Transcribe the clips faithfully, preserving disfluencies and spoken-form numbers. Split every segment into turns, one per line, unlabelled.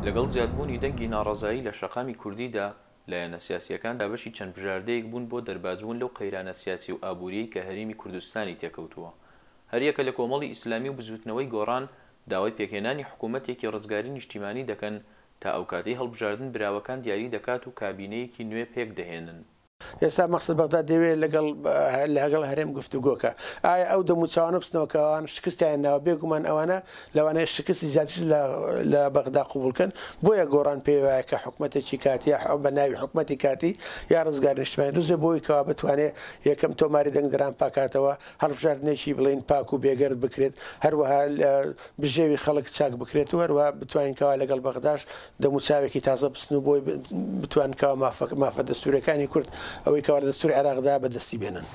لەگەڵ زیادبوونی دەنگی ناڕەزایی لە شەقامی کوردیدا، لایەنە سیاسییەکان دابەشی چەند بژاردەیەک بوون بۆ دەربازبوون لەو قەیرانە سیاسی و ئابووریەی کە هەرێمی کوردستانی تێکەوتووە. هەریەکە لە کۆمەڵی ئیسلامی و بزووتنەوەی گۆڕان داوای پێکهێنانی حکوومەتێکی ڕزگاری نیشتیمانی دەکەن تا ئەوکاتەی هەڵبژاردن براوەکان دیاری دەکات و کابینەیەکی نوێ پێکدەهێنن.
ئێستا مەقسەد بەغدا دەیەوێت لەگەڵ لەگەڵ هەرێم گفتوگۆکە. ئایا ئەو دەموچاوانە بچنەوە کە ئەوان شکستیان ناوە؟ بێگومان ئەوانە لەوانەیە شکستی زیاتر لە بەغدا قبوڵکەن. بۆیە گۆڕان پێی وایە کە حکومەتێکی کاتی یا بە ناوی حکومەتی کاتی یا ڕزگار نیشتمانی دروست بێ بۆی کەوا بتوانێت یەکەم تۆماری دەنگدەران پاکاتەوە، هەڵبژاردنێکی بڵین پاک و بێگەرد بکرێت، هەروەها بژێوی خەڵک چاک بکرێت و هەروەها بتوانین کەوا لەگەڵ بەغداش دەموچاوێکی تازە بچن و بۆی بتوان کەوا مافە دەستوورەکانی کورد ئەوەی کەوا لە دەستوری عێراقدا بەدەستی بێنن.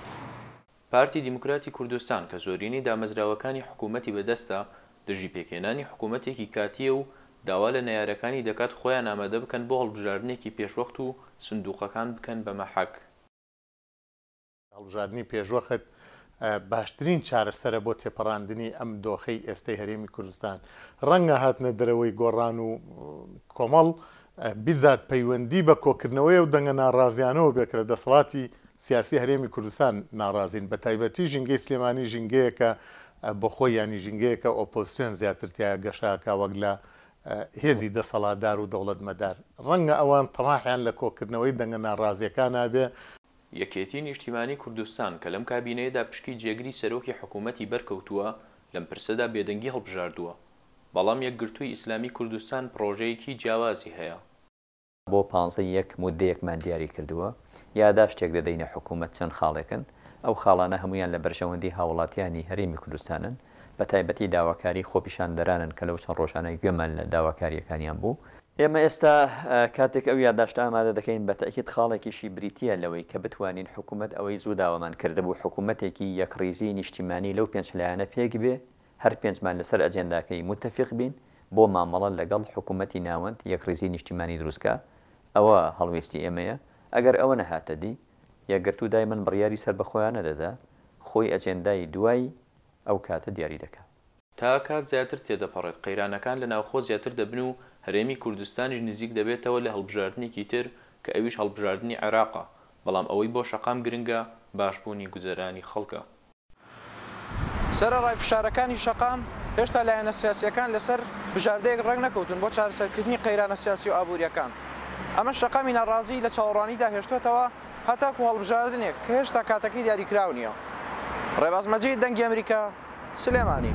پارتی دیموکراتی کوردستان کە زۆرینەی دامەزراوەکانی حکوومەتی بەدەستە، دژی پێکهێنانی حکوومەتێکی کاتییە و داوا لە نەیارەکانی دەکات خۆیان ئامادە بکەن بۆ هەڵبژاردنێکی پێشوەخت و سندوقەکان بکەن بە مەحەک.
هەڵبژاردنی پێشوەخت باشترین چارەسەرە بۆ تێپەڕاندنی ئەم دۆخەی ئێستەی هەرێمی کوردستان. ڕەنگە هاتنە دەرەوەی گۆڕان و کۆمەڵ بیزات پەیوەندی بە کۆکردنەوەی ئەو دەنگە ناڕازیانەوە بێ کە لە دەسەڵاتی سیاسی هەرێمی کوردستان ناڕازین، بە تایبەتی ژینگەی سلێمانی ژینگەیەکە بۆ خۆی، ینی ژینگەیەکە ئۆپۆزیسیۆن زیاتر تیا گەشاکە وەک لە هێزی دەسەڵاتدار و دەوڵەتمەدار. ڕەنگە ئەوان تەماحیان لە کۆکردنەوەی دەنگە ناڕازیەکان نابێ.
یەکێتی نیشتیمانی کوردستان کە لەم کابینەیەدا پشکی جێگری سەرۆکی حکوومەتی بەرکەوتووە، لەم پرسەدا بێدەنگی هەڵبژاردووە. بەڵام یەکگرتووی ئیسلامی کوردستان پرۆژەیەکی جیاوازی هەیە.
بۆ پانزە یەک مودەیەکمان دیاری کردووە، یاداشتێک دەدەینە حکوومەت چەند خاڵێکن، ئەو خاڵانە هەمویان لە بەرژەوەندی هاوڵاتیانی هەرێمی کوردستانن، بە تایبەتی داواکاری خۆپیشاندەرانن کە لەو چەند ڕۆژانە گوێمان لە داواکاریەکانیان بوو. ئێمە ئێستا کاتێک ئەو یاداشتە ئامادە دەکەین بە تەئکید خاڵێکیشی بریتییە لەوەی کە بتوانین حکوومەت ئەوەی زوو داوامان کردبوو حکوومەتێکی یەکڕیزی نیشتیمانی لەو پێنج لایەنە پێک بێ، هەر پێنجمان لەسەر ئەجێنداکەی متفق بین بۆ مامەڵە لەگەڵ حکوومەتی ناوەند یەکڕیزی نیشتیمانی دروستکە. ئەوە هەڵوێستی ئێمەیە. ئەگەر ئەوە نەهاتە دی، یەکگرتوو دایمەن بڕیاری سەربەخۆیانە دەدا، خۆی ئەجێندای دوای ئەو کاتە دیاری دەکا.
تا کات زیاتر تێدەپەڕێت قەیرانەکان لە ناوخۆ زیاتر دەبن و هەرێمی کوردستانیش نزیک دەبێتەوە لە هەڵبژاردنێکی تر کە ئەویش هەڵبژاردنی عێراقە، بەڵام ئەوەی بۆ شەقام گرنگە باشبوونی گوزەرانی خەڵکە.
سەرەڕای فشارەکانی شەقام، هێشتا لایەنە سیاسیەکان لەسەر بژاردەیەک ڕێک نەکەوتون بۆ چارەسەرکردنی قەیرانە سیاسی و ئابووریەکان. ئەمە شەقامی ناڕازی لە چاوەڕوانیدا هێشتۆتەوە هەتاکو هەڵبژاردنێک کە هێشتا کاتەکەی دیاریکراو نییە. ڕێباز مەجید، دەنگی ئەمریکا، سلێمانی.